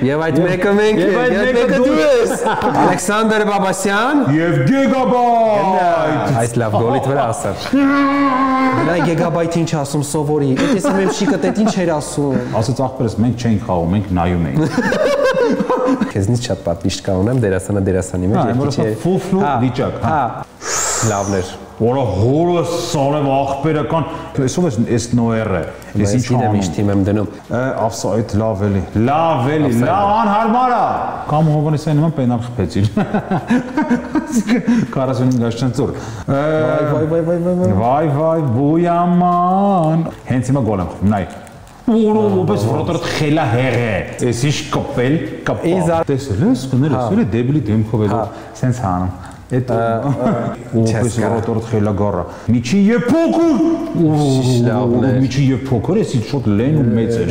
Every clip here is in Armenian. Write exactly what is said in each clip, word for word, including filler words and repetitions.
Եվ այդ մեկը մենք ենք, այդ մեկը դու ես։ Ալեքսանդր Բաբասյան եւ Գեգաբայթ։ Այս լավ գոլիդ վրա ասար։ Նա Գեգաբայթը ինչ ասում սովորի։ Էս իմ շիկը տետ ինչ էր ասում։ Ասած ախպերս մենք չենք խաղում, մենք նայում ենք։ Քեզնից շատ պատվիշտ կա ունեմ դերասանը դերասանի մեջ երկիչի։ Հա, ֆուֆլու վիճակ, հա։ Լավներ։ Որը հորը սարև ախպերական, այսով ես այս նոերը, ես ինչ անում։ Ես թիմ եմ դնում։ Ավսա այդ լավ էլի, լավ էլի, լավ անհարմար է։ Կամ Հովանեսյանի նման պենալ խփեցին։ քառասունհինգ աշնանցոր։ Վայ վայ վայ վայ վայ։ Վայ վայ բույաման։ Հենց հիմա գոլ եմ խփում, նայ։ Որո ոպես վրոտորդ խելա հեղե։ Էս ինչ կպել, կպա։ Տեսել ես, կներես, էլի դեբիլի դեմքով էլի սենց հանում։ Это ոպես վրոտորդ խելա գառը։ Միջի եւ փոքր։ Միջի եւ փոքր, էս ինչ շոտ լեն ու մեծ էր։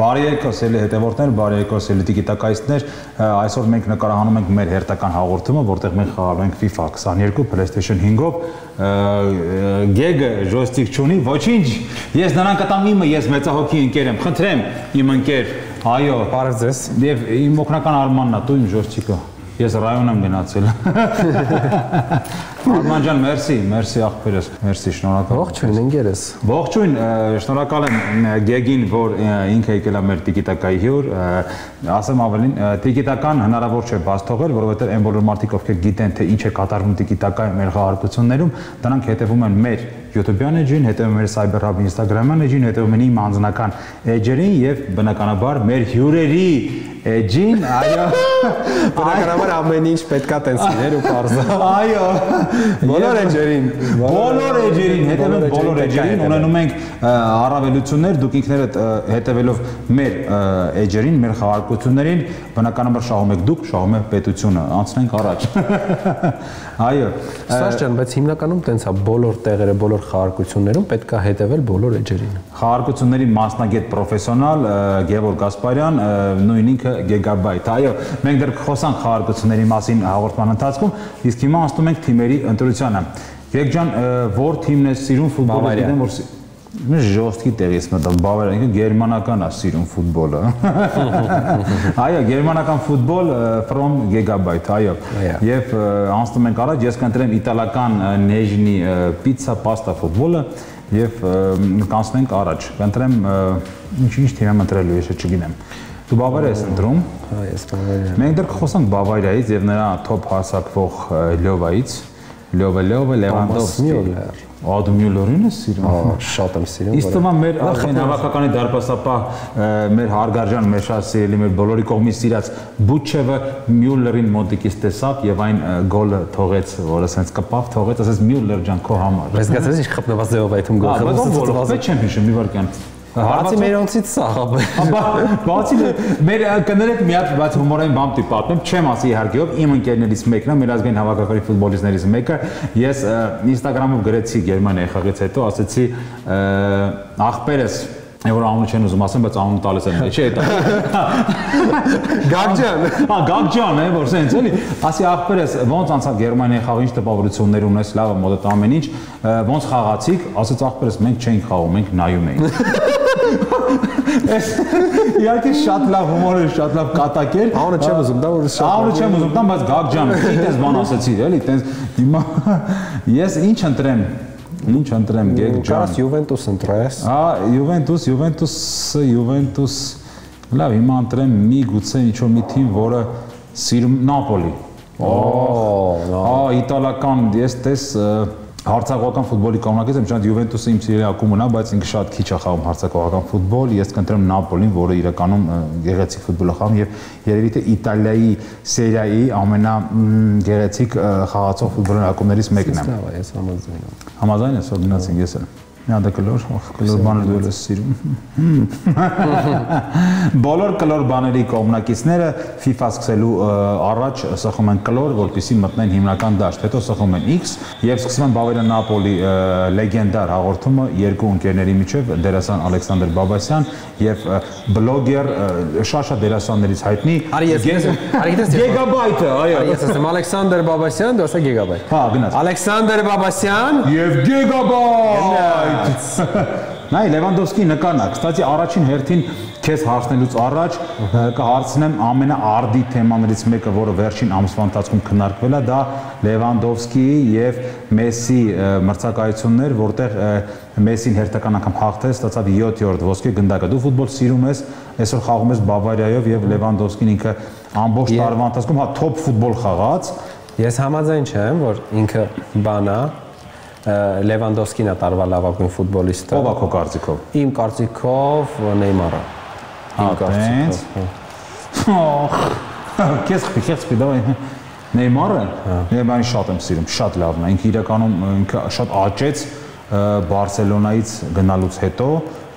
Բարի եկոս էլի հետևորդներ, բարի եկոս էլի տիկիտակայիստներ, այսօր մենք նկարահանում ենք մեր հերթական հաղորդումը, որտեղ մենք խաղալու ենք FIFA քսաներկու, PlayStation հինգով, Գեգը ժոստիկ չունի, ոչինչ, ես նրան կտամ իմը, ես մեծահոգի ընկեր եմ, խնդրեմ իմ ընկեր, այո, բարև ձեզ, եւ իմ օգնական Արմանն է, դու իմ ժոստիկը, ես ռայոն եմ գնացել։ Արման ջան, մերսի, մերսի աղբերս, մերսի, շնորհակալ։ Ողջույն, ընկերս։ Ողջույն, շնորհակալ եմ Գեգին, որ ինքը եկել է մեր տիկիտակայի հյուր, ասեմ ավելին, տիկիտական հնարավոր չէ բաց թողել, որովհետև այն բոլոր մարդիկ, ովքեր գիտեն, թե ինչ է կատարվում տիկիտակայի մեր խաղարկություններում, դրանք հետևում են մեր YouTube-յան էջին, հետևում մեր Cyberhub Instagram-յան էջին, հետևում են իմ անձնական էջերին եւ բնականաբար մեր հյուրերի էջին, այո, բնականաբար ամեն ինչ պետքա տենց լիներ ու parza։ Այո, բոլոր էջերին, բոլոր էջերին, հետևում բոլոր էջերին, ունենում ենք առավելություններ, դուք ինքներդ հետևելով մեր էջերին, մեր խաղարկություններին, բնականաբար շահում եք դուք, շահում է պետությունը, անցնենք առաջ։ Այո։ Սաշ ջան, բայց հիմնականում տենց է բոլոր տեղերը, բոլոր խաղարկություններում պետք է հետևել բոլոր էջերին։ Խաղարկությունների մասնագետ պրոֆեսիոնալ Գևորգ Գասպարյան, նույն ինքը Գեգաբայթ։ Այո, մենք դեռ խոսանք խաղարկությունների մասին հաղորդման ընթացքում, իսկ հիմա անցնում ենք թիմերի ընտրությանը։ Գեգ ջան, որ թիմն է սիրում ֆուտբոլը, գիտեմ որ ժոստկի տեղից մտավ, Բավարիան, ինքը գերմանական է սիրում ֆուտբոլը։ Այո, գերմանական ֆուտբոլ from Gigabyte, այո։ Եվ անցնում ենք առաջ, ես կընտրեմ իտալական Նեժնի պիցա պաստա ֆուտբոլը եւ կանցնենք առաջ։ Կընտրեմ ինչ-ինչ թիմ եմ ընտրելու, ես չգիտեմ։ Դու Բավարիա ես ընտրում։ Հա, ես Բավարիա։ Մենք դեռ խոսանք Բավարիայից եւ նրա top հասակվող Լյովայից։ Լյովը, Լյովը, Լևանդովսկի։ Ադմ Մյուլլերին է սիրում։ Ահա, շատ եմ սիրում։ Իսկ թվում է մեր հավաքականի դարպասապահ մեր հարգարժան մեր շատ սիրելի մեր բոլորի կողմից սիրած Բուչևը Մյուլլերին մոտիկից տեսավ եւ այն գոլը թողեց, որը ասենց կպավ, թողեց, ասես Մյուլլեր ջան քո համար։ Բայց գացես ինչ խփնված ձևով այդում գոլ խփում։ Բայց չեմ հիշում մի վարքյան։ Բացի մերոնցից սաղ է։ Բացի մեր կներեք մի հատ բաց հումորային բան տի պատմեմ, չեմ ասի իհարկե ով, իմ ընկերներից մեկն է, մեր ազգային հավաքականի ֆուտբոլիստներից մեկը, ես Instagram-ով գրեցի Գերմանիայի խաղից հետո, ասեցի աղբերս որ անունը չեն ուզում ասեմ, բայց անունը տալիս եմ, չէ՞ դա։ Գագջան։ Հա, Գագջան է, որ սենց էլի, ասի աղբերս ոնց անցավ Գերմանիայի խաղը, ինչ տպավորություններ ունես, լավ է մոդետ ամեն ինչ, ոնց խաղացիք, ասեց աղբերս մենք չենք խաղում, մենք նայում էինք։ Իհարկե շատ լավ հումոր էր, շատ լավ կատակ էր։ Անունը չեմ ուզում տամ, որ շատ Անունը չեմ ուզում տամ, բայց Գագջան, ինչ բան ասեցի, էլի, տենց հիմա ես ինչ ընտրեմ։ Ինչ ընտրեմ Գեգ ջան։ Կարաս Յուվենտուս ընտրես։ Հա, Յուվենտուս, Յուվենտուսը, Յուվենտուս։ Լավ, հիմա ընտրեմ մի գուցե ինչ-որ մի թիմ, որը սիրում Նապոլի։ Օ, հա, իտալական, ես տես հարցակողական ֆուտբոլի կողմնակից եմ, շատ Յուվենտուսը իմ սիրելի ակումբն է, բայց ինքը շատ քիչ է խաղում հարցակողական ֆուտբոլ, ես կընտրեմ Նապոլին, որը իրականում գեղեցիկ ֆուտբոլ է խաղում եւ երևի թե Իտալիայի սերիայի ամենագեղեցիկ խաղացող ֆուտբոլային ակումբներից մեկն է։ Լավ է, ես համաձայն եմ։ Համաձայն ես, որ գնացինք ես էլ։ Նադա կլոր, կլոր բաներ դու ես սիրում։ Բոլոր կլոր բաների կողմնակիցները FIFA սկսելու առաջ սխում են կլոր, որպեսզի մտնեն հիմնական դաշտ, հետո սխում են X եւ սկսում են Բավարիա Նապոլի լեգենդար հաղորդումը երկու ընկերների միջև դերասան Ալեքսանդր Բաբասյան եւ բլոգեր շատ-շատ դերասաններից հայտնի Գեգաբայթը, այո։ Ես ասեմ Ալեքսանդր Բաբասյան, դու ասա Գեգաբայթ։ Հա, գնաց։ Ալեքսանդր Բաբասյան եւ Գեգաբայթ։ Նայ Լևանդովսկի նկարն է, կստացի առաջին հերթին քեզ հարցնելուց առաջ կհարցնեմ ամենաարդի թեմաներից մեկը, որը վերջին ամսվա ընթացքում քննարկվել է, դա Լևանդովսկիի եւ Մեսսի մրցակայությունն էր, որտեղ Մեսսին հերթական անգամ հաղթեց, ստացավ յոթերորդ ոսկե գնդակը։ Դու ֆուտբոլ սիրում ես, այսօր խաղում ես Բավարիայով եւ Լևանդովսկին ինքը ամբողջ տարվա ընթացքում հա թոփ ֆուտբոլ խաղաց։ Ես համաձայն չեմ, որ ինքը բանա Լևանդովսկին է տարվա լավագույն ֆուտբոլիստը։ Ո՞վ է քո կարծիքով։ Իմ կարծիքով Նեյմարը։ Իմ կարծիքով։ Քեզ քեզ պիտի Նեյմարը, Նեյմարին շատ եմ սիրում, շատ լավն է։ Ինքը իրականում ինքը շատ աճեց Բարսելոնայից գնալուց հետո,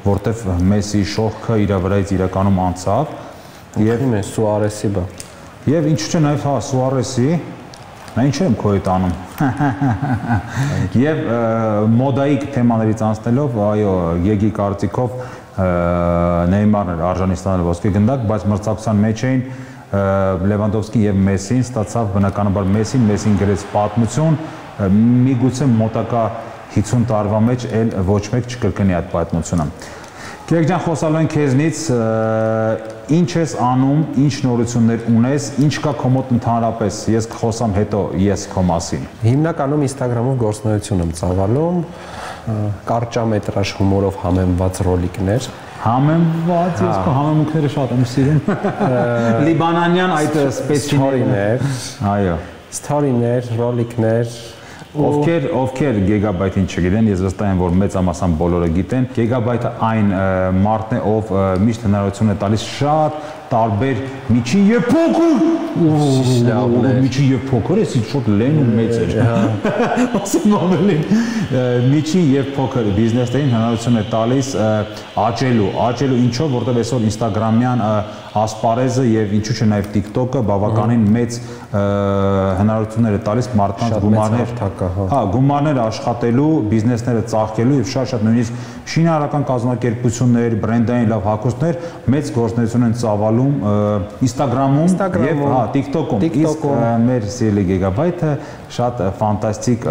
որտեվ Մեսսի շողքը իր վրայից իրականում անցավ եւ Սուարեսի բա։ Եվ ինչու՞ չէ նաեւ հա Սուարեսի Նա ինչ եմ քո հետ անում։ Եվ մոդայիկ թեմաներից անցնելով, այո, Գեգի կարծիքով Նեյմարն էր արժանի ստանալ ոսկե գնդակ, բայց մրցակցության մեջ էին Լևանդովսկին եւ Մեսսին, ստացավ բնականաբար Մեսսին, Մեսսին գրեց պատմություն, միգուցե մոտակա հիսուն տարվա մեջ էլ ոչ մեկ չկրկնի այդ պատմությունը։ Գեգ ջան, խոսալու են քեզնից, ինչ ես անում, ինչ նորություններ ունես, ինչ կա քո մոտ ընդհանրապես, ես կխոսամ հետո ես քո մասին։ Հիմնականում Instagram-ով գործունեություն եմ ծավալում, կարճամետրաժ հումորով համեմված ռոլիկներ։ Համեմված, ես քո համեմունքները շատ եմ սիրում։ Լիբանանյան այդ սպեցիալներ, այո, սթորիներ, ռոլիկներ Ովքեր ովքեր Գեգաբայթին չգիտեն, ես վստահ եմ, որ մեծամասամբ բոլորը գիտեն։ Գեգաբայթը այն մարդն է, ով միշտ հնարավորություն է տալիս շատ տարբեր միջին եւ փոքր միջին եւ փոքր, էսի շատ լեն ու մեծ էր։ Ասում ամենին միջին եւ փոքր բիզնեսներին հնարավորություն է տալիս աճելու, աճելու ինչով, որտեղ այսօր Instagram-յան ասպարեզը եւ ինչու՞ չէ նաեւ TikTok-ը բավականին մեծ հնարավորություններ է տալիս մարդկանց գումարներ, հա, գումարներ աշխատելու, բիզնեսները ծաղկելու եւ շատ-շատ նույնիսկ շինարարական կազմակերպություններ, բրենդային լավ հագուստներ մեծ գործունեություն են ծավալում Instagram-ում եւ հա TikTok-ում։ Իսկ մեր սիրելի Գեգաբայթը շատ ֆանտաստիկ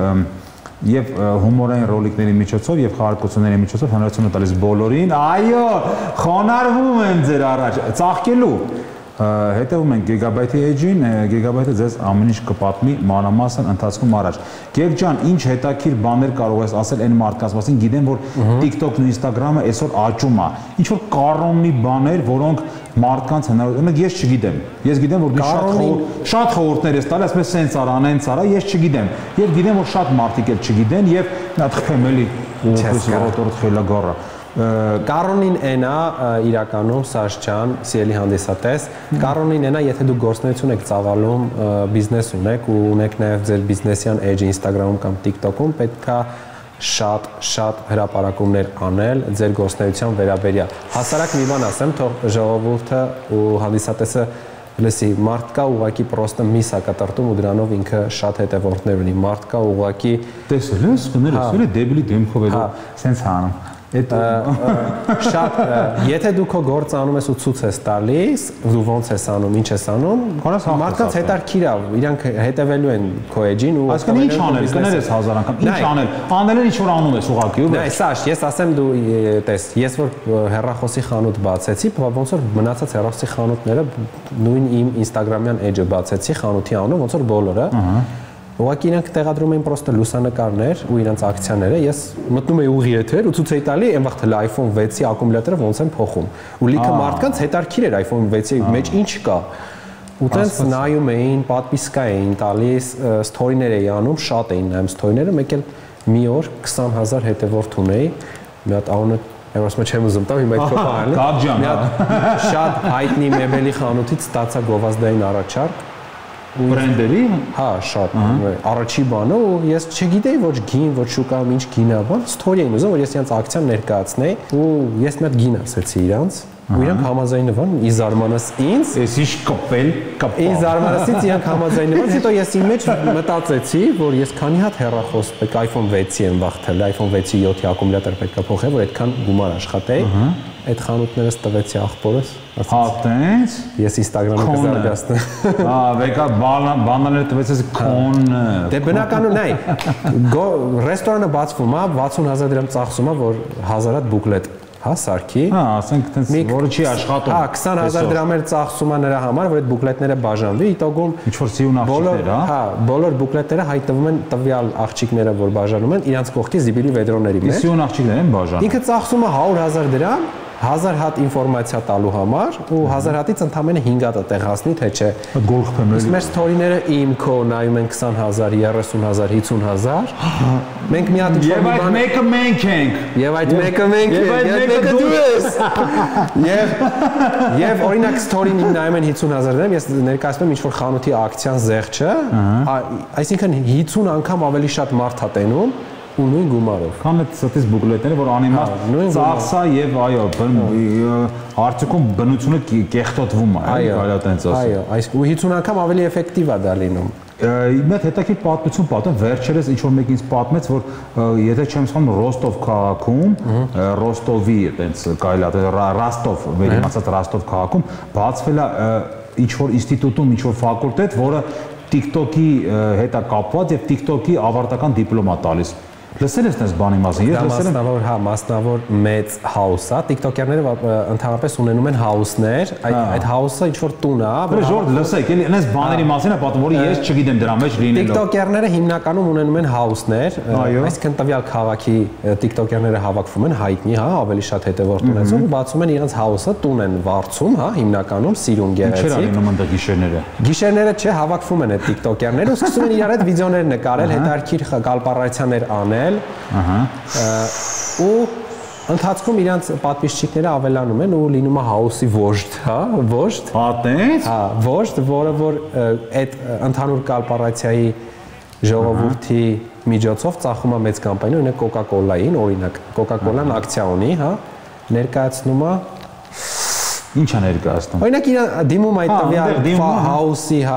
եւ հումորային ռոլիկների միջոցով եւ խաղարկությունների միջոցով հնարավորություն է տալիս բոլորին, այո, խոնարհվում եմ ձեր առաջ, ծաղկելու հետևում ենք Գեգաբայթի էջին, Գեգաբայթը ձեզ ամեն ինչ կպատմի մանրամասն ընթացքում առաջ։ Գեգ ջան, ինչ հետաքրքիր բաներ կարող ես ասել այն մարդկանց մասին, գիտեմ, որ TikTok-ն ու Instagram-ը այսօր աճում է։ Ինչ որ կառոնի բաներ, որոնք մարդկանց հնարավոր, ես չգիտեմ։ Ես գիտեմ, որ դու շատ շատ խորհուրդներ ես տալիս, ասես սենց արա, անենց արա, ես չգիտեմ։ Եվ գիտեմ, որ շատ մարդիկ էլ չգիտեն եւ նա թխեմ էլի ուղղակի ռոտորդ խելագարը։ Կառոնին այնա իրականում Սաշ ջան, սիրելի հանդիսատես, կառոնին այնա, եթե դու գործունեություն եք ծավալում, բիզնես ունեք ու ունեք նաև ձեր բիզնեսյան էջը Instagram-ում կամ TikTok-ում, պետքա շատ շատ հրապարակումներ անել ձեր գործունեության վերաբերյալ։ Հասարակ մի բան ասեմ, թող ժողովուրդը ու հանդիսատեսը լսի, մարդ կա ուղղակի պրոստը միս է կտրտում ու դրանով ինքը շատ հետևորդներ ունի։ Մարդ կա ուղղակի տեսել ես, կներես, էլ է դեբիլի դեմքով էլ սենց հանում։ Շատ, եթե դու քո գործը անում ես ու ցույց ես տալիս, դու ոնց ես անում, ինչ ես անում, մարդկանց հետաքրքիր է, իրանք հետևելու են քո էջին ու այսինքն ինչ անել, կներես հազար անգամ, ինչ անել, անել են ինչ որ անում ես ուղղակի ու։ Նայ, Սաշ, ես ասեմ դու տես, ես որ հեռախոսի խանութ բացեցի, ոնց որ մնացած հեռախոսի խանութները նույն իմ Instagram-յան էջը բացեցի խանութի անունով, ոնց որ բոլորը։ Ուղղակի իրանք տեղադրում էին պրոստը լուսանկարներ ու իրանց ակցիաները, ես մտնում էի ուղի եթեր ու ցույց էի տալի այն վաղ թել iPhone վեցի ակումուլյատորը ոնց են փոխում։ Ու լիքը մարդկանց հետաքրքիր էր iPhone վեցի մեջ ինչ կա։ Ու տենց նայում էին, պատվիսկա էին տալիս, սթորիներ էի անում, շատ էին նայում սթորիները, մեկ էլ մի օր քսան հազար հետևորդ ունեի, մի հատ անունը Ես մոտ չեմ ուզում տամ, հիմա այդ փոխը արել։ Կապ ջան, շատ հայտնի մեբելի խանութից ստացա գովազդային առաջարկ։ բրենդերի, հա, շատ առաջի բանը ու ես չգիտեի ոչ գին, ոչ շուկայում ինչ գին է, բան, ստորի էին ուզում, որ ես իրանց ակցիան ներկայացնեի ու ես մի հատ գին ասեցի իրանց ու իրանք համաձայնվան, ի զարմանս ինձ, ես ինչ կպել, կպա։ Ի զարմանալից իրանք համաձայնվան, հետո ես իմ մեջ մտածեցի, որ ես քանի հատ հեռախոս պետք է iPhone վեցի եմ վախտել, iPhone վեցի յոթի ակումուլյատոր պետք է փոխել, որ այդքան գումար աշխատեի։ Այդ խանութներս տվեցի ախպորս։ Հա, տենց։ Ես Instagram-ը կզարգացնեմ։ Հա, վեկա բանաները տվեցես քոնը։ Դե բնականում նայ։ Ռեստորանը բացվում է, վաթսուն հազար դրամ ծախսում է, որ հազար հատ բուկլետ, հա, սարքի։ Հա, ասենք տենց, որը չի աշխատում։ Հա, քսան հազար դրամ էլ ծախսում է նրա համար, որ այդ բուկլետները բաժանվի, իտոգում ինչ որ սիուն աղջիկներ, հա։ Հա, բոլոր բուկլետները հայտնվում են տվյալ աղջիկները, որ բաժանում են, իրանց կողքի զիբիլի վեդրոների մեջ։ Սիուն աղջիկներ են բաժանում։ Ինքը ծախսում է հարյուր հազար դրամ հազար հատ ինֆորմացիա տալու համար ու հազար հատից ընդամենը հինգ հատ տեղացնի, թե չէ։ Գոլ խփեմ էլի։ Մեր ստորիները իմ քո նայում են քսան հազար, երեսուն հազար, հիսուն հազար։ Մենք մի հատ Եվ այդ մեկը մենք ենք։ Եվ այդ մեկը մենք ենք, եւ մեկը դու ես։ Եվ եւ օրինակ ստորին իմ նայում են հիսուն հազար դրամ, ես ներկայացնում ինչ որ խանութի ակցիան զեղչը, այսինքն հիսուն անգամ ավելի շատ մարդ է տենում ու նույն գումարով։ Քան այդ ստից բուկլետները, որ անիմաստ ծախսա եւ այո, արդյունքում բնությունը կեղտոտվում է, կարելի է տենց ասել։ Այո, այս ու հիսուն անգամ ավելի էֆեկտիվ է դա լինում։ Մեծ հետաքրքիր պատմություն պատմեմ, վերջերս ինչ որ մեկին պատմեց, որ եթե չեմ սխալվում Ռոստով քաղաքում, Ռոստովի այտենց կարելի է Ռաստով, վերիմացած Ռաստով քաղաքում բացվել է ինչ որ ինստիտուտում, ինչ որ ֆակուլտետ, որը TikTok-ի հետ է կապված եւ TikTok-ի ավարտական դիպլոմ է տալիս։ Լսել ես այս բանի մասին։ Ես լսել եմ, մասնավոր, հա, մասնավոր մեծ house է, TikTok-երները ընդհանրապես ունենում են house-ներ, այդ այդ house-ը ինչ որ տուն է, որ ժորդ լսեք, էլի այնպես բաների մասին է պատմում, որ ես չգիտեմ դրա մեջ լինելով։ TikTok-երները հիմնականում ունենում են house-ներ, այսինքն տվյալ քաղաքի TikTok-երները հավաքվում են հայտնի, հա, ավելի շատ հետևորդ ունեցող, բացում են իրենց house-ը, տուն են վարձում, հա, հիմնականում սիրուն գեղեցիկ։ Ինչեր ալինում ընդ գիշերները։ Գիշերները չէ, հավաքվում են այդ TikTok-երները ու սկսում են իրար հետ վիդեոներ նկարել, հետարքիր կալպարացիաներ անել։ Ահա։ Ու ընթացքում իրանց պատվիճները ավելանում են ու լինում է house-ի վոժդ, հա, վոժդ։ Հա, տենց։ Հա, վոժդ, որը որ այդ ընդհանուր կալպարացիայի ժողովրդի միջոցով ծախում է մեծ կամպանիա, օրինակ Coca-Cola-ին, օրինակ Coca-Cola-ն ակցիա ունի, հա, ներկայացնում է Ինչ է ներկայացնում։ Օրինակ իրան դիմում այդ տվյալ house-ի, հա,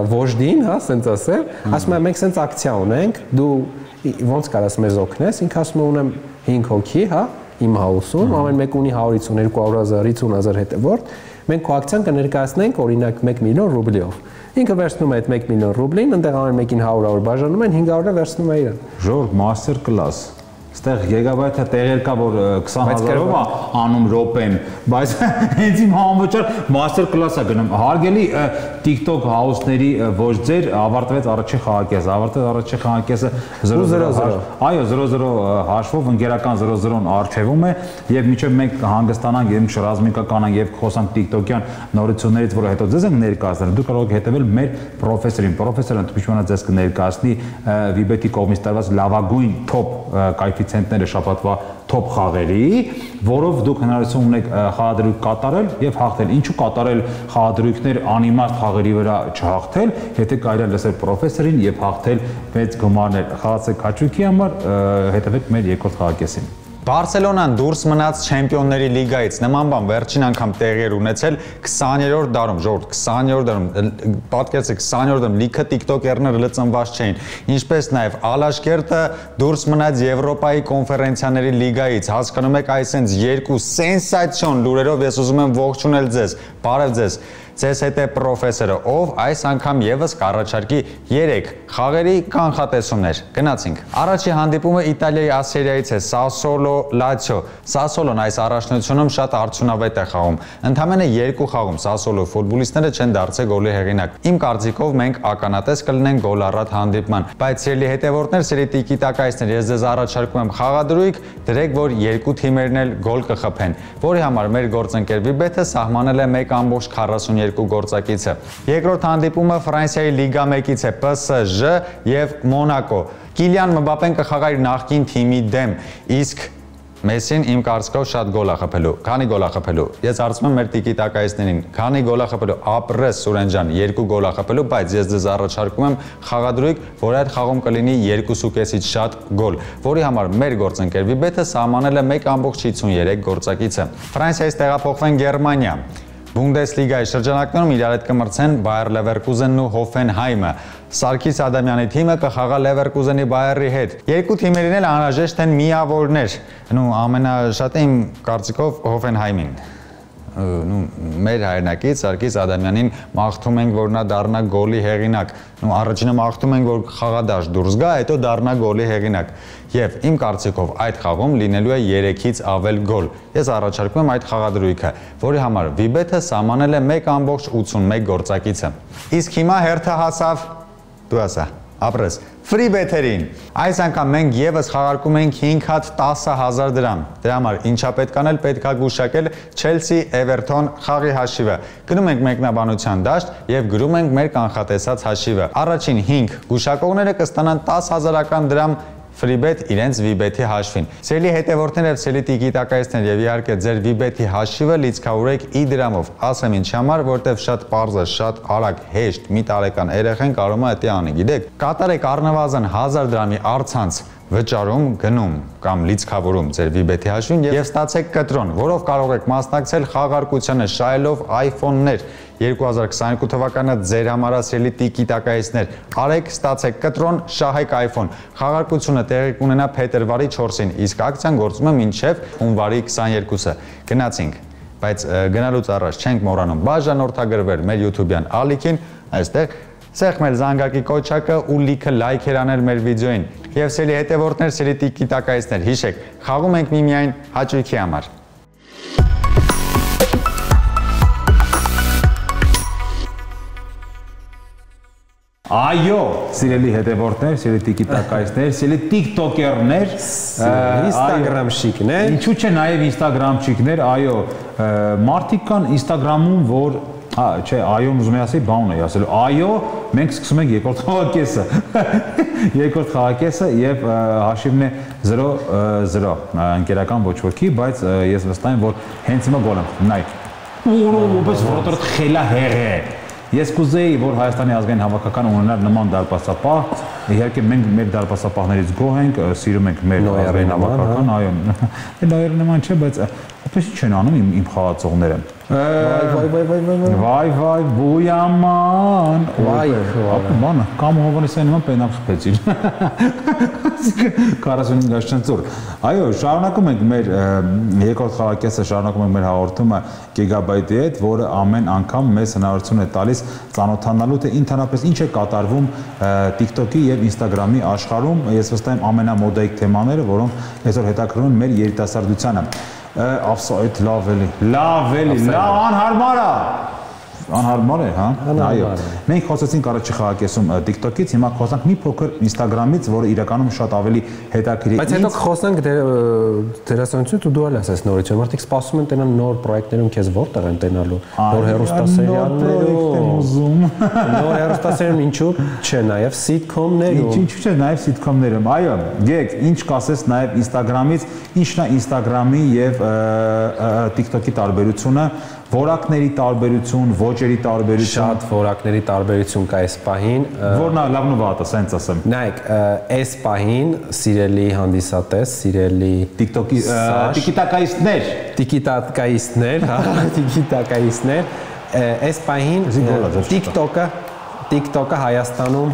վոժդին, հա, ասենց ասել, ասում է մենք ասենց ակցիա ունենք, դու ոնց կարաս մեզ օգնես, ինքը ասում է ունեմ հինգ հոգի, հա, իմ house-ում, ամեն մեկ ունի հարյուր հիսուն, երկու հազար, հիսուն հազար հետևորդ, մենք քո ակցիան կներկայացնենք օրինակ մեկ միլիոն ռուբլիով։ Ինքը վերցնում է այդ մեկ միլիոն ռուբլին, ընտեղ ամեն մեկին հարյուր բաժանում են, հինգ հարյուրը վերցնում է իրան։ Ժորգ մաստեր կլաս։ Ստեղ գիգաբայթը տեղեր կա, որ քսան հազարով է անում րոպեն, բայց հենց իմ համոճար մաստեր կլաս է գնում։ Հարգելի TikTok house-ների ոչ ձեր ավարտվեց առաջին խաղակեսը, ավարտվեց առաջին խաղակեսը զրո զրո։ Այո, զրո զրո հաշվով ընկերական զրո զրոն արժևում է եւ մինչեւ մենք հանգստանանք եւ շրազմիկականանք եւ խոսանք TikTok-յան նորություններից, որը հետո ձեզ ենք ներկայացնել, դուք կարող եք հետևել մեր պրոֆեսորին։ Պրոֆեսորը ընդմիջմանա ձեզ կներկայացնի Վիբետի կողմից տրված լավագույն top կայֆիցիենտները շաբաթվա top խաղերի, որով դուք հնարավորություն ունեք խաղադրույք կատարել եւ հաղթել։ Ինչու կատարել խաղադրույքներ անիմաստ խաղերի վրա չհաղթել, եթե կարելի է լսել պրոֆեսորին եւ հաղթել մեծ գումարներ։ Խաղացեք հաճույքի համար, հետևեք մեր երկրորդ խաղակեսին։ Բարսելոնան դուրս մնաց Չեմպիոնների լիգայից, նման բան վերջին անգամ տեղի էր ունեցել քսաներորդ դարում, ժողովուրդ, քսաներորդ դարում, պատկերացրեք քսաներորդ դարում լիքը TikTok-երները լծնված չէին, ինչպես նաև Ալաշկերտը դուրս մնաց Եվրոպայի կոնֆերենցիաների լիգայից, հասկանում եք, այսինքն երկու սենսացիոն լուրերով ես ուզում եմ ողջունել ձեզ, բարև ձեզ։ Ձեզ հետ է պրոֆեսորը, ով այս անգամ եւս կառաջարկի երեք խաղերի կանխատեսումներ։ Գնացինք։ Առաջի հանդիպումը Իտալիայի Ասերիայից է Սասոլո Լացիո։ Սասոլոն այս առաջնությունում շատ արդյունավետ է խաղում։ Ընդամենը երկու խաղում Սասոլո ֆուտբոլիստները չեն դարձել գոլի հեղինակ։ Իմ կարծիքով մենք ականատես կլինենք գոլ առատ հանդիպման։ Բայց սիրելի հետևորդներ, սիրելի տիկիտակայցներ, ես ձեզ առաջարկում եմ խաղադրույք, դրեք, որ երկու թիմերն էլ գոլ կխփեն, որի համար մեր գործընկեր Վիբեթը սահմանել է մեկ կόμma քառասունյոթ գործակիցը։ Երկրորդ հանդիպումը Ֆրանսիայի Լիգա մեկից է Պ Ս Ժ եւ Մոնակո։ Կիլիան Մբապեն կխաղա իր նախկին թիմի դեմ, իսկ Մեսին իմ կարծիքով շատ գոլ է խփելու։ Քանի գոլ է խփելու։ Ես հարցնում եմ մեր տիկիտակայիստներին, քանի գոլ է խփելու։ Ապրես Սուրեն ջան, երկու գոլ է խփելու, բայց ես ձեզ առաջարկում եմ խաղադրույք, որ այդ խաղում կլինի երկու կեսից շատ գոլ, որի համար մեր գործընկեր Վիբեթը սահմանել է մեկ ամբողջ հիսուններեք գործակիցը։ Ֆրանսիայից տեղափոխվեն Գերմանիա։ Բունդեսլիգայի շրջանակներում իրար հետ կմրցեն Բայեր Լևերկուզենն ու Հոֆենհայմը։ Սարգիս Ադամյանի թիմը կխաղա Լևերկուզենի Բայերի հետ։ Երկու թիմերին էլ անհրաժեշտ են միավորներ։ Նու ամենաշատը իմ կարծիքով Հոֆենհայմին։ Նու մեր հայրենակից Սարգիս Ադամյանին մաղթում ենք, որ նա դառնա գոլի հեղինակ։ Նու առաջինը մաղթում ենք, որ խաղադաշտ դուրս գա, հետո դառնա գոլի հեղինակ։ Եվ իմ կարծիքով այդ խաղում լինելու է երեքից ավել գոլ։ Ես առաջարկում եմ այդ խաղադրույքը, որի համար Վիբեթը սահմանել է մեկ ամբողջ ութսունմեկ գործակիցը։ Իսկ հիմա հերթը հասավ դու ասա, ապրես Freebet-երին։ Այս անգամ մենք եւս խաղարկում ենք հինգ հատ տասը հազար դրամ։ Դրա համար ինչա պետք անել, պետք է գուշակել Chelsea Everton խաղի հաշիվը։ Գնում ենք մեկնաբանության դաշտ եւ գրում ենք մեր կանխատեսած հաշիվը։ Առաջին հինգ գուշակողները կստանան տասը հազարական դրամ Freebet իրենց Vibet-ի հաշվին։ Սելի հետևորդներ եւ սելի տիկիտակայիստներ եւ իհարկե ձեր Vibet-ի հաշիվը լիցքավորեք ի դրամով։ Ասեմ ինչ համար, որտեվ շատ պարզ է, շատ արագ, հեշտ, մի տարեկան երեխան կարող է դա անի, գիտեք։ Կատարեք առնվազն հազար դրամի առցանց վճարում, գնում կամ լիցքավորում ձեր Vibet-ի հաշվին եւ ստացեք կտրոն, որով կարող եք մասնակցել խաղարկությանը շահելով iPhone-ներ երկու հազար քսաներկու թվականը ձեր համար ասելի տիկիտակայիստներ։ Արեք, ստացեք կտրոն, շահեք iPhone։ Խաղարկությունը տեղի կունենա փետրվարի չորսին, իսկ ակցիան գործում է մինչև հունվարի քսաներկուսը։ Գնացինք, բայց գնալուց առաջ չենք մոռանում բաժանորդագրվել մեր YouTube-յան ալիքին, այստեղ սեղմել զանգակի կոչակը ու լիքը լայքեր անել մեր վիդեոին։ Եվ սելի հետևորդներ, սելի տիկիտակայիստներ, հիշեք, խաղում ենք միմիայն հաճույքի համար։ Այո, սիրելի հետևորդներ, սիրելի տիկիտակայիստներ, սիրելի տիկտոկերներ, Instagram-շիկներ, ինչու՞ չէ նաև Instagram-շիկներ, այո, մարդիկ կան Instagram-ում, որ Հա, չէ, այոն ուզում եմ ասել, բան ունեի ասելու։ Այո, մենք սկսում ենք երկրորդ խաղակեսը։ Երկրորդ խաղակեսը եւ հաշիվն է զրո զրո։ Ընկերական ոչ ոքի, բայց ես վստահ եմ, որ հենց հիմա գոլ եմ։ Նայեք։ Ուրոպես որտեղ խելա հեղ է։ Ես կուզեի, որ Հայաստանի ազգային հավաքականը ունենար նման դարպասապահ, իհարկե մենք մեր դարպասապահներից գոհ ենք, սիրում ենք մեր ազգային հավաքական, այո։ Նոյերը նման չէ, բայց այդպես ինչ են անում իմ խաղացողները։ Վայ վայ վայ վայ վայ վայ վայ բույաման վայ բանը կամ Հովանեսյանի նման պենալ խփեցիր քառասունհինգ աշճանցուր այո շարունակում ենք մեր երկրորդ խաղակեսը շարունակում ենք մեր հաղորդումը Gigabyte-ի հետ, որը ամեն անգամ մեզ հնարավորություն է տալիս ծանոթանալու թե ընդհանրապես ինչ է կատարվում TikTok-ի եւ Instagram-ի աշխարհում։ Ես վստահ եմ ամենամոդայիկ թեմաները, որոնք այսօր հետաքրքրում են մեր երիտասարդությանը։ Ապսո այդ լավ էլի, լավ էլի, լավ անհարմար է։ Անհարմար է, հա։ Այո։ Մենք խոսեցինք առաջի խաղակեսում TikTok-ից, հիմա խոսանք մի փոքր Instagram-ից, որը իրականում շատ ավելի հետաքրքիր է։ Բայց հետո խոսանք դերասանություն ու դու ալ ասես նորից, մարդիկ սպասում են տենան նոր պրոյեկտներում քեզ որտեղ են տենալու, նոր հեռուստասերիալներում։ Նոր հեռուստասերիալներում ինչու՞ չէ, նաև sitcom-ներում։ Ինչու՞ չէ, նաև sitcom-ներում։ Այո, գեք, ինչ կասես նաև Instagram-ից, ինչն է Instagram-ի եւ TikTok-ի տարբերությունը։ Որակների տարբերություն, ոճերի տարբերություն, շատ որակների տարբերություն կա այս պահին։ Որն է լավն ու վատը, ասենց ասեմ։ Նայեք, այս պահին սիրելի հանդիսատես, սիրելի TikTok-ի տիկիտակայիստներ, տիկիտակայիստներ, հա, տիկիտակայիստներ, այս պահին TikTok-ը, TikTok-ը Հայաստանում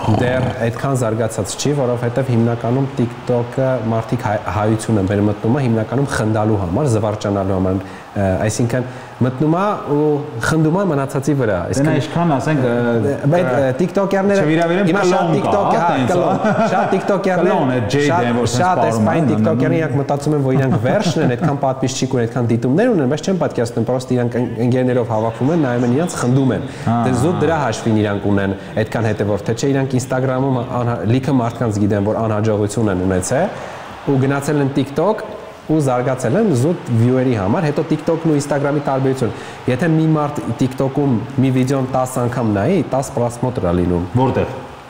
դեռ այդքան զարգացած չի, որովհետև հիմնականում TikTok-ը մարդիկ հայություն են բերում մտնումը հիմնականում խնդալու համար, զվարճանալու համար, այսինքն մտնում է ու խնդում է մնացածի վրա։ Դենա ինչքան ասենք բայց TikTok-երները հիմա շատ TikTok-ը, հա, կլոն, շատ TikTok-երները շատ այսպայն TikTok-երները իրանք մտածում են, որ իրանք վերջն են, այդքան պատվիսչիկ ու այդքան դիտումներ ունեն, բայց չեն պատկերացնում, պրոստը իրանք ընկերներով հավաքվում են, նայում են իրանք խնդում են։ Դե զուտ դրա հաշվին իրանք ունեն այդքան հետևորդ, թե չէ իրանք Instagram-ում լիքը մարդկանց գիտեն, որ անհաջողություն են ունեցել ու գնացել են TikTok ու զարգացել են զուտ view-երի համար, հետո TikTok-ն ու Instagram-ի տարբերություն։ Եթե մի մարդ TikTok-ում մի վիդեոն տասը անգամ նայի, տասը պրասմոտր է լինում։ Որտեղ։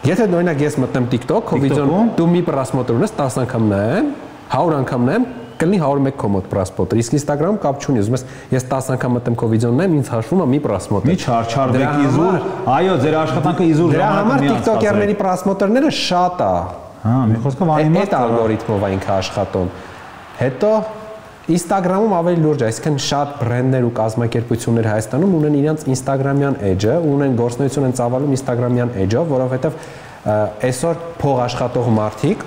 Եթե օրինակ ես մտնեմ TikTok, քո վիդեոն դու մի պրասմոտր ունես, տասը անգամ նայեմ, հարյուր անգամ նայեմ, կլինի հարյուր մեկ քո մոտ պրասպոտը։ Իսկ Instagram կապ չունի, ուզում ես ես տասը անգամ մտեմ քո վիդեոն նայեմ, ինձ հաշվում է մի պրասպոտ։ Մի չարչարվեք իզուր։ Այո, ձեր աշխատանքը իզուր դրա համար TikToker-ների պրասպոտերները շատ է։ Հա, մի խոսքով արի այդ ալգորիթմով է ինքը աշխատում։ Հետո Instagram-ում ավելի լուրջ է, այսինքն շատ բրենդներ ու կազմակերպություններ Հայաստանում ունեն իրենց Instagram-յան edge-ը, ունեն գործունեություն են ծավալում Instagram-յան edge-ով, որովհետև այսօր փող աշխատող մարդիկ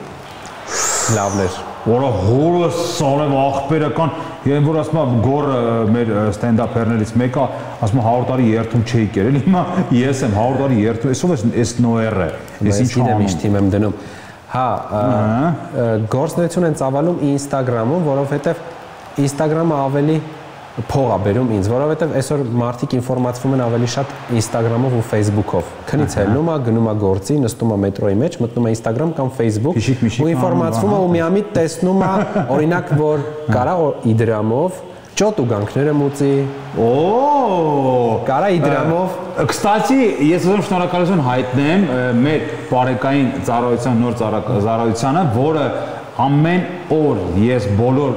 լավներ, որը հորը սարև աղբերական, եւ որ ասում եմ գորը մեր ստենդափերներից մեկը ասում է հարյուր տարի երթում չէի կերել, հիմա ես եմ հարյուր տարի երթում, այսով էս էս նոերը, ես ինչ անում, միշտ եմ դնում։ Հա, գործունեություն են ծավալում Instagram-ում, որովհետև Instagram-ը ավելի փող է բերում ինձ, որովհետև այսօր մարդիկ ինֆորմացվում են ավելի շատ Instagram-ով ու Facebook-ով։ Քնից ելնում է, գնում է գործի, նստում է մետրոյի մեջ, մտնում է Instagram կամ Facebook ու ինֆորմացվում է ու միամիտ տեսնում է, օրինակ, որ կարա Իդրամով ճոտ ու գանքները մուծի։ Օ, կարա Իդրամով։ Կստացի, ես ուզում շնորհակալություն հայտնեմ մեր բարեկային ծառայության նոր ծառայությանը, որը ամեն օր ես բոլոր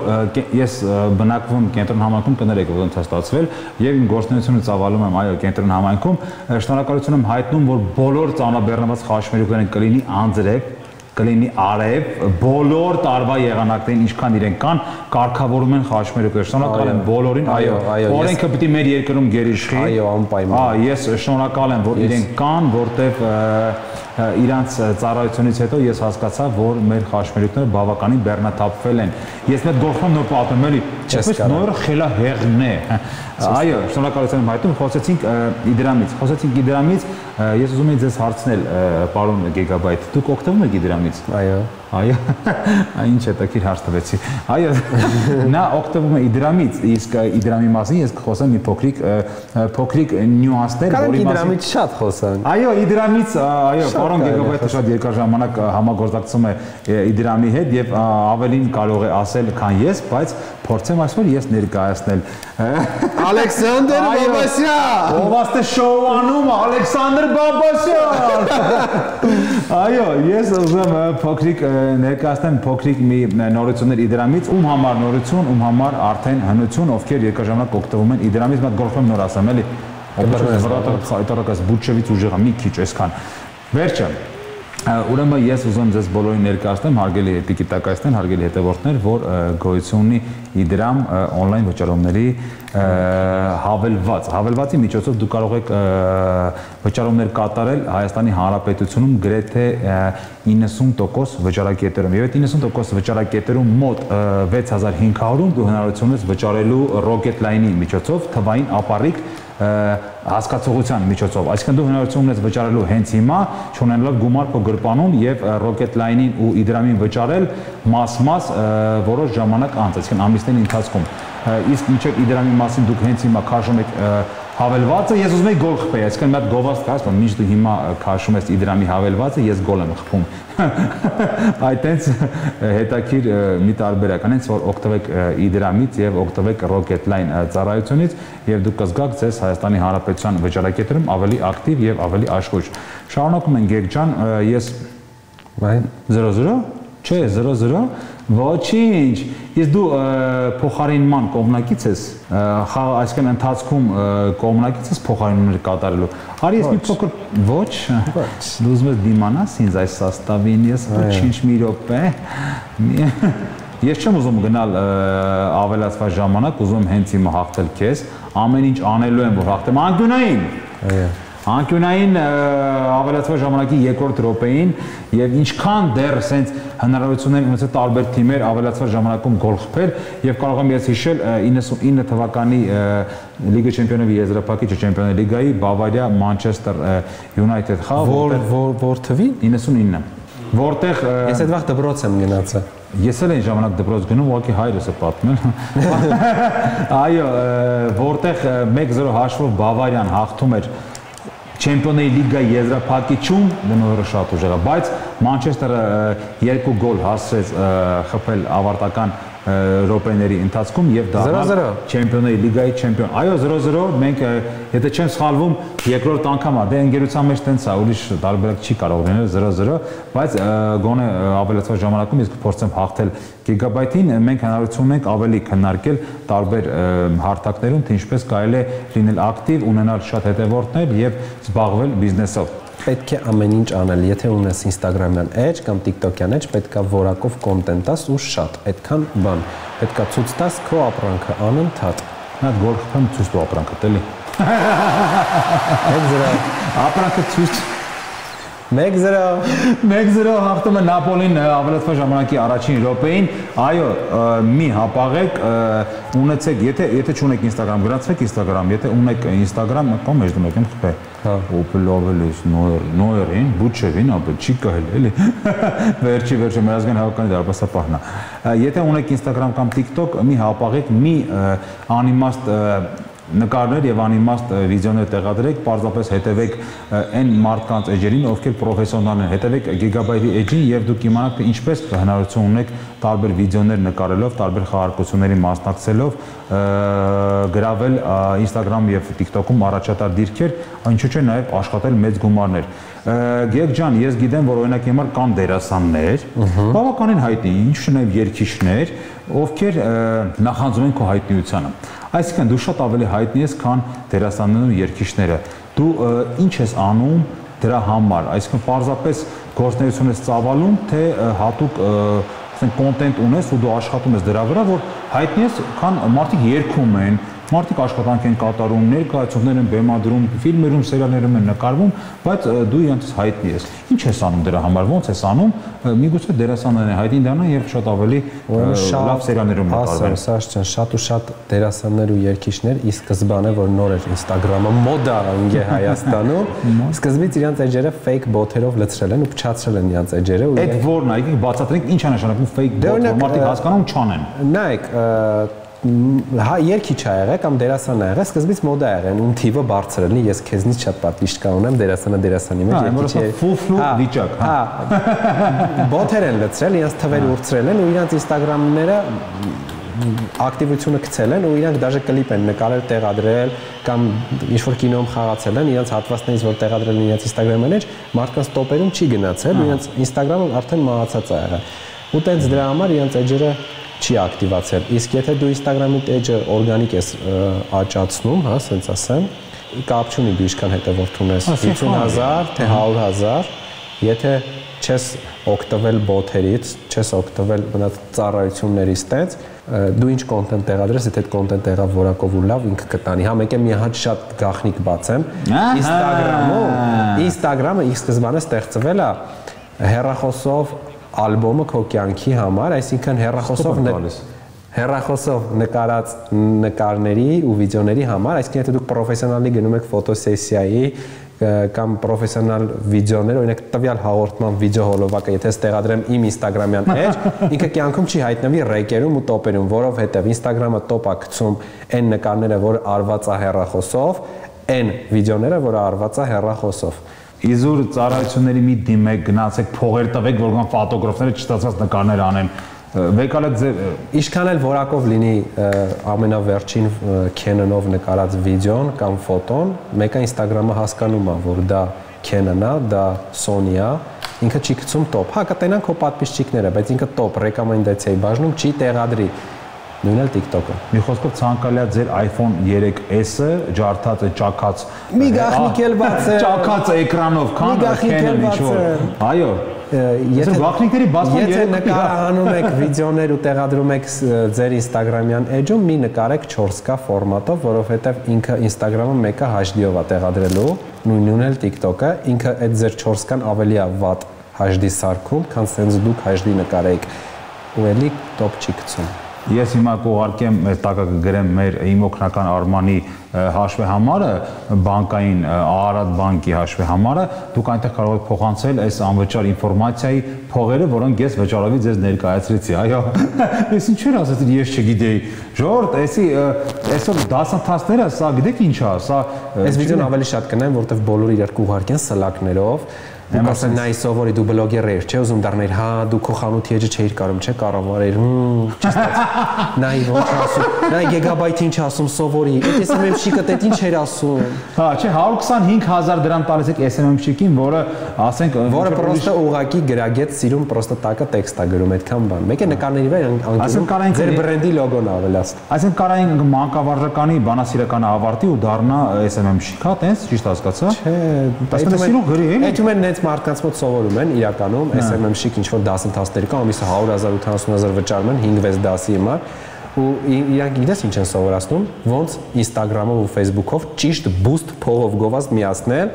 ես բնակվում կենտրոն համայնքում կներեք որ ընթաց ստացվել եւ իմ գործունեությունը ծավալում եմ այո կենտրոն համայնքում շնորհակալություն եմ հայտնում որ բոլոր ծանրաբեռնված խաչմերուկներն կլինի անձրև կլինի արև բոլոր տարվա եղանակներին ինչքան իրենք կան կարգավորում են խաչմերուկներ շնորհակալ եմ բոլորին այո օրենքը պիտի մեր երկրում գերիշխի այո անպայման հա ես շնորհակալ եմ որ իրենք կան որտեվ իրանց ծառայությունից հետո ես հասկացա, որ մեր խաչմերուկները բավականին բեռնաթափվել են։ Ես մեկ գլխում նոր պատմում էլի, այսպես նորը խելահեղն է։ Այո, շնորհակալություն եմ հայտնում, խոսեցինք Իդրամից, խոսեցինք Իդրամից, ես ուզում եմ ձեզ հարցնել, պարոն Գիգաբայթ, դուք օգտվում եք Իդրամից։ Այո։ Այո, ինչ հետաքրքիր հարց տվեցի։ Այո, նա օգտվում է Իդրամից, իսկ Իդրամի մասին ես կխոսեմ մի փոքրիկ փոքրիկ նյուանսներ, որի մասին Իդրամից շատ խոսանք։ Այո, Իդրամից, այո, պարոն Գեգաբայթը շատ երկար ժամանակ համագործակցում է Իդրամի հետ եւ ավելին կարող է ասել, քան ես, բայց փորձեմ այսօր ես ներկայացնել Ալեքսանդր Բաբասյան։ Ով աստ է շոուանում Ալեքսանդր Բաբասյան։ Այո, ես ուզում եմ փոքրիկ ներկայացնեմ փոքրիկ մի նորություններ Իդրամից, ում համար նորություն, ում համար արդեն հնություն, ովքեր երկար ժամանակ օգտվում են Իդրամից, մատ գլխում նոր ասեմ, էլի։ Այդարակած բուչևից ուժեղա մի քիչ այսքան։ Վերջը Ուրեմն ես ուզում ձեզ բոլորին ներկայացնեմ, հարգելի տիկիտակայցներ, հարգելի հետևորդներ, որ գոյություն ունի Իդրամ on-line վճարումների հավելված։ Հավելվածի միջոցով դուք կարող եք վճարումներ կատարել Հայաստանի Հանրապետությունում գրեթե իննսուն տոկոս վճարակետերում։ Եվ այդ իննսուն տոկոս վճարակետերում մոտ վեց հազար հինգ հարյուր դու հնարավորություն ես վճարելու Rocket Line-ի միջոցով թվային ապառիկ հասկացողության միջոցով, այսինքն դու հնարավորություն ունես վճարելու հենց հիմա, չունենալով գումար քո գրպանում եւ Rocket Line-ին ու Իդրամին վճարել մաս-մաս որոշ ժամանակ անց, այսինքն ամիսների ընթացքում։ Իսկ մինչև Իդրամի մասին դուք հենց հիմա քաշում եք հավելվածը, ես ուզում եմ գոլ խփեի, այսինքն մի հատ գովաստ կաս, որ մինչ դու հիմա քաշում ես Իդրամի հավելվածը, ես գոլ եմ խփում։ Այդտենց հետաքրիր մի տարբերակ, այնց որ օգտվեք Իդրամից եւ օգտվեք Rocket Line ծառայությունից եւ դուք կզգաք ձեզ Հայաստանի Հանրապետության վճարակետերում ավելի ակտիվ եւ ավելի աշխույժ։ Շարունակում ենք Գեգ ջան, ես զրո զրո Չէ, զրո զրո, ոչինչ, ես դու փոխարինման կողմնակից ես, այսինքն ընթացքում կողմնակից ես փոխարինումներ կատարելու, արի ես մի փոքր ոչ, դու ուզում ես դիմանաս ինձ այս սաստավին, ես ոչինչ մի րոպե, ես չեմ ուզում գնալ ավելացված ժամանակ, ուզում եմ հենց հիմա հաղթել քեզ, ամեն ինչ անելու եմ, որ հաղթեմ անկյունային, Անկյունային ավելացված ժամանակի երկրորդ րոպեին եւ ինչքան դեռ սենց հնարավորություններ ունեցել տարբեր թիմեր ավելացված ժամանակում գոլ խփել եւ կարող եմ ես հիշել իննսունինը թվականի Լիգա Չեմպիոնների եզրափակիչ Չեմպիոնների լիգայի Բավարիա Մանչեսթեր Յունայթեդ խաղ որ որ թվի իննսունինը որտեղ ես այդ վաղ դպրոց եմ գնացել Ես էլ այն ժամանակ դպրոց գնում, ուղղակի հայրս է պատմել։ Այո, որտեղ մեկ զրո հաշվով Բավարիան հաղթում էր Չեմպիոնների լիգայի եզրափակիչում, դնորը շատ ուժեղ է, բայց Մանչեսթերը երկու գոլ հասցրեց խփել ավարտական րոպեների ընթացքում եւ դառնալ Չեմպիոնների լիգայի չեմպիոն։ Այո, zero zero, մենք եթե չեմ սխալվում, երկրորդ անգամ է, դե ընկերության մեջ տենց է, ուրիշ տարբերակ չի կարող լինել zero zero, բայց գոնե ավելացված ժամանակում իսկ փորձեմ հաղթել Gigabyte-ին, մենք հնարավորություն ունենք ավելի քննարկել տարբեր հարթակներում, թե ինչպես կարելի է լինել ակտիվ, ունենալ շատ հետևորդներ եւ զբաղվել բիզնեսով։ Պետք է ամեն ինչ անել, եթե ունես Instagram-յան edge կամ TikTok-յան edge, պետքա որակով կոնտենտ տաս ու շատ, այդքան բան, պետքա ցույց տաս քո ապրանքը անընդհատ։ Նա գոր խփեմ ցույց տու ապրանքը, տելի։ մեկ zero ապրանքը ցույց մեկ zero մեկ zero հաղթում է Նապոլին ավելացված ժամանակի առաջին րոպեին։ Այո, մի հապաղեք, ունեցեք, եթե եթե չունեք Instagram, գրանցեք Instagram, եթե ունեք Instagram, կամ մեջ դուք եմ խփե։ Հա, Opel-Ovelis, Noer-ին, Butcher-ին, ապա չի կհել, էլի։ Վերջի վերջը մեր ազգային հավաքանի դարպասապահն է։ Եթե ունեք Instagram կամ TikTok, մի հապաղեք, մի անիմաստ նկարներ եւ անիմաստ վիդեոներ տեղադրեք, պարզապես հետևեք այն մարդկանց էջերին, ովքեր պրոֆեսիոնալ են, հետևեք Gigabyte-ի էջին եւ դուք իմանաք թե ինչպես հնարավորություն ունեք տարբեր վիդեոներ նկարելով, տարբեր խաղարկությունների մասնակցելով, գրավել Instagram եւ TikTok-ում առաջատար դիրքեր, ինչու՞ չէ նաեւ աշխատել մեծ գումարներ։ Գեգ ջան, ես գիտեմ, որ օրինակ հիմա կան դերասաններ, բավականին հայտնի, ինչու՞ նաեւ երգիչներ, ովքեր նախանձում են քո հայտնիությանը։ Այսինքն դու շատ ավելի հայտնի ես, քան դերասաններն ու երգիչները։ Դու ինչ ես անում դրա համար, այսինքն պարզապես գործունեություն ես ծավալում, թե հատուկ ասենք կոնտենտ ունես ու դու աշխատում ես դրա վրա, որ հայտնի ես, քան մարդիկ երգում են, մարդիկ աշխատանք են կատարում, ներկայացումներ են բեմադրում, ֆիլմերում, սերիալներում են նկարվում, բայց դու իրանց հայտնի ես։ Ինչ ես անում դրա համար, ո՞նց ես անում, միգուցե դերասաններն են հայտնի դառնան եւ շատ ավելի լավ սերիալներում նկարվեն։ Ասա, Սաշ ջան, շատ ու շատ դերասաններ ու երգիչներ ի սկզբանե որ նոր էր Instagram-ը մոդա ընկե Հայաստանում, սկզբից իրանց էջերը fake bot-երով լցրել են ու փչացրել են իրանց էջերը ու այդ որն է, եկեք բացատրենք ինչ է նշանակում fake bot, որ մարդիկ հասկանում չանեն։ Նայեք, հա երգիչ ա եղել կամ դերասան ա եղել, սկզբից մոդա ա եղել, ում թիվը բարձր լինի, ես քեզնից շատ պատվիշտ կանեմ, դերասանը դերասանի մեջ երգիչ է։ Ֆուֆլու վիճակ, հա։ Բոթեր են լցրել, իրենց թվերը ուրցրել են ու իրենց Instagram-ները ակտիվությունը գցել են ու իրանք դաժե կլիպ են նկարել, տեղադրել կամ ինչ-որ կինոյում խաղացել են, իրենց հատվածներից որ տեղադրել են իրենց Instagram-ը մեջ, մարդկանց տոպերում չի գնացել ու իրենց Instagram-ը արդեն մահացած ա եղել։ Ու տենց դրա համար իրենց էջերը չի ակտիվացել։ Իսկ եթե դու Instagram-ի էջը օրգանիկ ես աճացնում, հա, ասենց ասեմ, կապ չունի դու ինչքան հետևորդ ունես, հիսուն հազար, թե հարյուր հազար, եթե չես օգտվել բոթերից, չես օգտվել մնաց ծառայություններից տենց, դու ինչ կոնտենտ տեղադրես, եթե այդ կոնտենտ եղավ որակով ու լավ, ինքը կտանի։ Հա մեկ է մի հատ շատ գաղտնիք բացեմ, Instagram-ում, Instagram-ը ի սկզբանե ստեղծվել է հեռախոսով ալբոմը քո կյանքի համար, այսինքն հեռախոսով հեռախոսով նկարած նկարների ու վիդեոների համար, այսինքն եթե դուք պրոֆեսիոնալի գնում եք ֆոտոսեսիայի կամ պրոֆեսիոնալ վիդեոներ, օրինակ տվյալ հաղորդման վիդեո հոլովակը, եթե ստեղադրեմ իմ Instagram-յան էջ, ինքը կյանքում չի հայտնվի ռեյկերում ու տոպերում, որովհետև Instagram-ը տոպ է գցում այն նկարները, որ արված է հեռախոսով, այն վիդեոները, որ արված է հեռախոսով։ Իզուր ծառայությունների մի դիմեք, գնացեք, փողեր տվեք, որ կան ֆոտոգրաֆները չստացված նկարներ անեն։ Վեկալը ձեր ինչքան էլ որակով լինի ամենավերջին Canon-ով նկարած վիդեոն կամ ֆոտոն, մեկը Instagram-ը հասկանում է, որ դա Canon-ն է, դա Sony-ն է, ինքը չի գցում տոպ։ Հա կտենան քո պատվիսչիկները, բայց ինքը տոպ ռեկոմենդացիայի բաժնում չի տեղադրի։ Նույնն էլ TikTok-ը։ Մի խոսքով ցանկալի է ձեր iPhone three S-ը ջարդած է ճակած։ Մի գաղտնիք էլ բաց է։ Ճակած էկրանով, քան Canon ինչ-որ։ Այո։ Եթե գաղտնիքների բացման եթե նկարահանում եք վիդեոներ ու տեղադրում եք ձեր Instagram-յան էջում, մի նկարեք four K ֆորմատով, որովհետև ինքը Instagram-ը մեկը H D-ով է տեղադրելու, նույնն էլ TikTok-ը, ինքը այդ ձեր four K-ն ավելի է վատ H D սարքում, քան սենց դուք H D նկարեք։ Ու էլի տոպ չի գցում։ Ես հիմա կուղարկեմ մեր տակը կգրեմ մեր իմ օգնական Արմանի հաշվեհամարը, բանկային Արարատ բանկի հաշվեհամարը, դուք այնտեղ կարող եք փոխանցել այս անվճար ինֆորմացիայի փողերը, որոնք ես վճարովի ձեզ ներկայացրեցի։ Այո, ես ինչ էր ասացի, ես չգիտեի։ Ժողովուրդ, էսի այսօր դասընթացները, սա գիտեք ինչ է, սա այս վիդեոն ավելի շատ կնայեմ, որովհետև բոլորը իրար կուղարկեն սլակներով, Ասեն նայ սովորի դու բլոգեր ես, չէ՞ ուզում դառնալ, հա, դու քո խանութի էջը չէիր կարող, չէ՞ կառավարել։ Նայ ոնց ասում, նայ գիգաբայթ ինչ ասում սովորի, այդ էս էմ էմ-շիկը դե ինչ էր ասում։ Հա, չէ, հարյուր քսանհինգ հազար դրամ տալիս եք էս էմ էմ-շիկին, որը ասենք որը պրոստը ուղակի գրագետ սիրում պրոստը տակը տեքստ է գրում այդքան բան։ Մեկ է նկարների վրա անկյուն ձեր բրենդի լոգոն ավելացն։ Այսինքն կարային մանկավարժականի բանասիրականը ավարտի ու դառնա էս էմ էմ-շիկ, հա, տես, ճիշտ հասկացա։ Չէ, սիրուն գրի էլի։ Այդում են նենց մարդկանց մոտ սովորում են իրականում էս էմ էմ-շիկ ինչ որ դասընթացների կա, ամիսը հարյուր հազար ութանասուն հազար վճարում են հինգ-վեց դասի համար ու իրանք գիտես ինչ են սովորացնում ոնց Instagram-ով ու Facebook-ով ճիշտ boost փողով գովազդ միացնել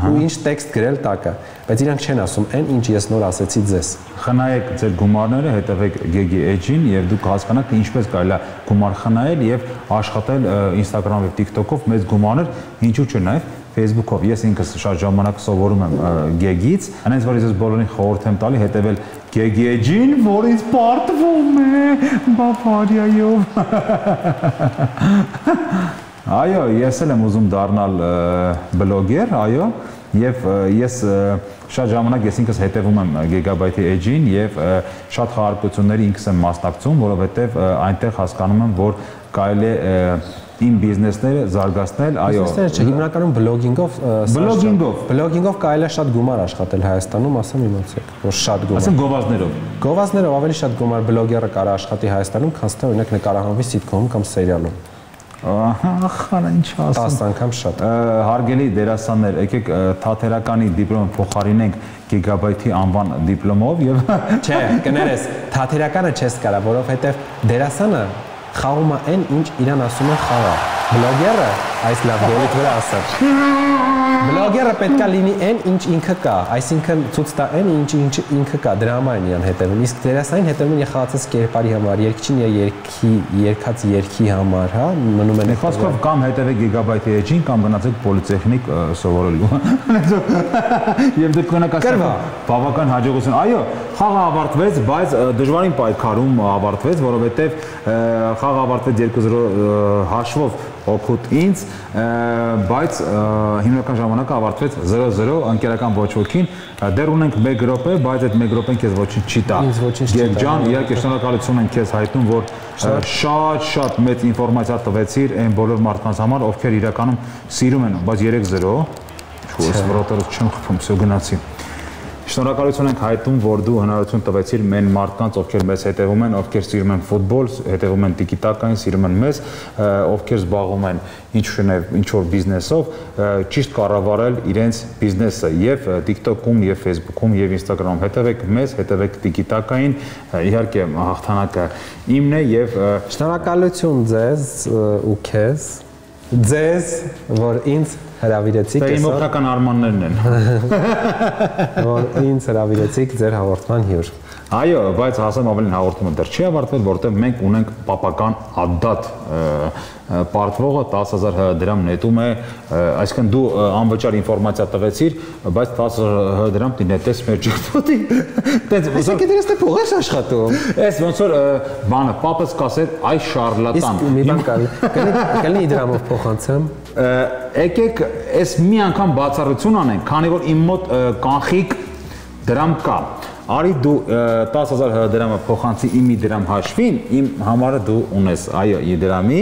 ու ինչ տեքստ գրել տակը բայց իրանք չեն ասում այն ինչ ես նոր ասեցի ձեզ խնայեք ձեր գումարները հետևեք Gegi Edge-ին եւ դուք հասկանաք թե ինչպես կարելի է գումար խնայել եւ աշխատել Instagram-ով եւ TikTok-ով մեծ գումարներ ինչու՞ չէ նաեւ Facebook-ով ես ինքս շատ ժամանակ սովորում եմ Gegi-ից, այնպես որ ես բոլորին խորհուրդ եմ տալի հետևել Gegi Edge-ին, որ ինձ պարտվում է Բավարիայով։ Այո, ես էլ եմ ուզում դառնալ բլոգեր, այո, եւ ես շատ ժամանակ ես ինքս հետևում եմ Gigabyte-ի Edge-ին եւ շատ խաղարկությունների ինքս եմ մասնակցում, որովհետեւ այնտեղ հասկանում եմ, որ կարելի է իմ բիզնեսները զարգացնել, այո։ Բիզնեսները չէ, հիմնականում բլոգինգով, բլոգինգով, բլոգինգով կարելի է շատ գումար աշխատել Հայաստանում, ասեմ իմացեք, որ շատ գումար։ Ասեմ գովազդներով։ Գովազդներով ավելի շատ գումար բլոգերը կարա աշխատի Հայաստանում, քան թե օրինակ նկարահանվի սիթքոմում կամ սերիալում։ Ահա, ինչ ասեմ։ տասը անգամ շատ։ Հարգելի դերասաններ, եկեք թատերականի դիպլոմը փոխարինենք Gigabyte-ի անվան դիպլոմով եւ Չէ, կներես, թատերականը չես կարա, որովհետեւ դերասանը խաղում է այն, ինչ իրան ասում են խաղա։ Բլոգերը, այս լավ դոլիք վրա ասած։ Բլոգերը պետքա լինի այն, ինչ ինքը կա, այսինքն ցույց տա այն, ինչ ինչ ինքը կա, դրամային իրան հետևում։ Իսկ դերասանին հետևում են խաղացած կերպարի համար, երկչին երկի, երկած երկի համար, հա, մնում են Խոսքով կամ հետևեք Gigabyte-ի Edge-ին կամ գնացեք պոլիտեխնիկ սովորելու։ Եվ դուք կնակասեք բավական հաջողություն։ Այո, խաղը ավարտվեց, բայց դժվարին պայքարում ավարտվեց, որովհետև խաղը avարտվեց երկու զրո հաշվով օգուտ ինձ, բայց հիմնական ժամանակը ավարտվեց զրո զրո ընկերական ոչ ոքին, դեռ ունենք մեկ րոպե, բայց այդ մեկ րոպեն քեզ ոչինչ չի տա։ Եվ ջան, իհարկե շնորհակալություն ենք քեզ հայտնում, որ շատ-շատ մեծ ինֆորմացիա տվեցիր այն բոլոր մարդկանց համար, ովքեր իրականում սիրում են, բայց երեք զրո, չուս վրոտերը չեմ խփում, всё գնացի։ Շնորհակալություն ենք հայտնում, որ դու հնարավորություն տվեցիր մեն մարդկանց, ովքեր մեզ հետևում են, ովքեր սիրում են ֆուտբոլ, հետևում են տիկիտակային, սիրում են մեզ, ովքեր զբաղվում են ինչ-որ ինչ-որ բիզնեսով, ճիշտ կառավարել իրենց բիզնեսը եւ TikTok-ում եւ Facebook-ում եւ Instagram-ում հետևեք մեզ, հետևեք տիկիտակային, իհարկե հաղթանակը իմն է եւ շնորհակալություն ձեզ ու քեզ, ձեզ, որ ինձ հրավիրեցիք այսօր։ Իմ օգնական արմաններն են։ Որ ինձ հրավիրեցիք ձեր հաղորդման հյուր։ Այո, բայց հասեմ ավելին հաղորդումը դեռ չի ավարտվել, որտեղ մենք ունենք պապական ադատ պարտվողը տասը հազար դրամ նետում է, այսինքն դու անվճար ինֆորմացիա տվեցիր, բայց տասը հազար դրամ դի նետես մեր ջիքտոտի։ Այսինքն դες դե փող ես աշխատում։ Էս ոնց որ բանը պապս կասեր, այ շարլատան։ Իսկ մի բան կա, կլինի դրամով փոխանցեմ։ Եկեք այս մի անգամ բացառություն անենք, քանի որ իմ մոտ կանխիկ դրամ կա։ Արի դու տասը հազար դրամը փոխանցի իմ մի դրամ հաշվին, իմ համարը դու ունես, այո, ի դրամի,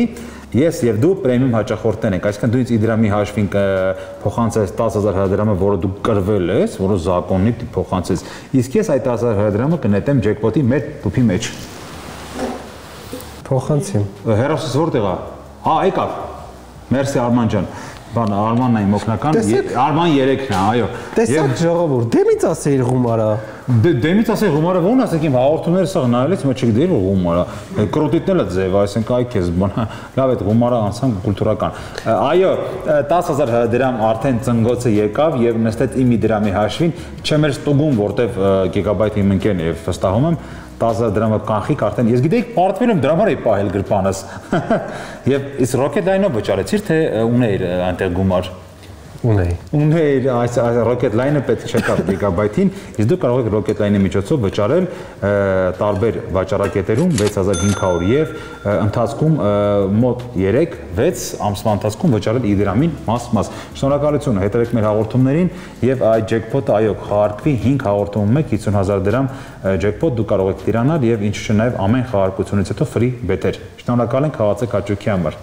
ես եւ դու պրեմիում հաճախորդներ ենք, այսինքն դու ինձ ի դրամի հաշվին փոխանցես տասը հազար դրամը, որը դու կրվել ես, որը զակոննի փոխանցես, իսկ ես այդ տասը հազար դրամը կնետեմ ջեկպոտի մեր տուփի մեջ։ Փոխանցեմ։ Հերոսս որտեղ է։ Հա, եկավ։ Մերսի Արման ջան։ Բան Արմանն է իմ օգնական, Արման երեքն է, այո։ Տեսակ ժողովուրդ, դեմից ասեիր գումարը։ Դեմից ասեի գումարը ո՞ն ասեք իմ հաղորդումները սա նայելից մը չգիտեի որ գումարը։ Կրոդիտն էլ է ձև, այսինքն այ քեզ բան, լավ այդ գումարը անցան կուլտուրական։ Այո, տասը հազար դրամ արդեն ծնգոցը եկավ եւ նստեց իմի դրամի հաշվին, չեմ էր ստուգում, որտեվ Gigabyte-ի իմ ընկերն է եւ վստահում եմ տասը դրամը կանխիկ արդեն ես գիտեի պարտվել եմ դրա համար էի պահել գրպանս եւ իսկ Rocketline-ով վճարեցիր թե ունեիր այնտեղ գումար Ունեի։ Ունեի այս Rocket Line-ը պետք չկար Gigabyte-ին, իսկ դու կարող եք Rocket Line-ի միջոցով վճարել տարբեր վաճառակետերում six thousand five hundred եւ ընթացքում մոտ three six ամսվա ընթացքում վճարել իդրամին մաս-մաս։ Շնորհակալություն, հետևեք մեր հաղորդումներին եւ այդ jackpot-ը այո խաղարկվի five հաղորդումում մեկ fifty thousand դրամ jackpot դու կարող եք տիրանալ եւ ինչու՞ չէ նաեւ ամեն խաղարկությունից հետո free bet-էր։ Շնորհակալ ենք, խաղացեք հաճույքի համար։